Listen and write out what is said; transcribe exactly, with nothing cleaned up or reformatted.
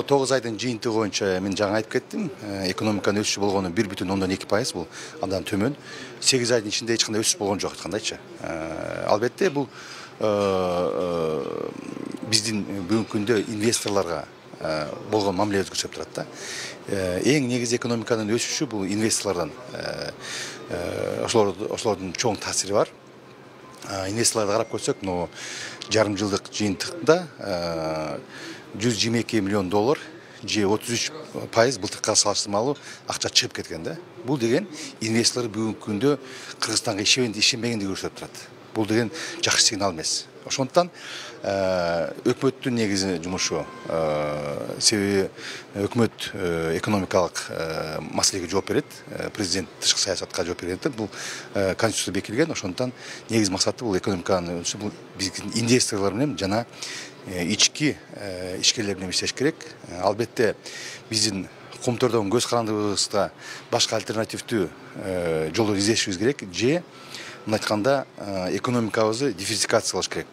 тогуз айдын жыйынтыгы боюнча мен жаңы айтып кеттим. Экономиканын өсүшү болгону бир бүтүн ондон эки пайыз, бул андан төмөн. сегиз айдын ичинде эч кандай өсүш болгон жок айткандайчы. Албетте бул биздин бүгүнкү күндө инвесторлорго болгон мамилебиз көрсөтүп турат да. Эң негизи экономиканын өсүшү бул инвесторлордон, ошолордун чоң таасири бар. Инвесторлорду карап көрсөк, мына жарым жылдык жыйынтыкта жүз жыйырма эки миллион доллар же отуз үч пайыз былтыркыга салыштырмалуу акча чыгып кеткен да. Бул деген инвесторлор бүгүнкү күндө Кыргызстанга ишенбегендиги көрсөтүп турат. Бул деген жакшы сигнал эмес. Ошондуктан өкмөттүн негизи жумушу, себеби өкмөт экономикалык маселеге жооп берет, президент тышкы саясатка жооп берет. Бул конституция бекилген, ошондуктан негизи максаты бул экономиканын өсүшү, бул биздин инвесторлор менен жана ички ишкерлер менен иштеш керек. Албетте биздин комтордон көз карандыбызга башка альтернативдүү жолду издешибиз керек, же мындай айтканда экономикабызды диверсификациялаш керек.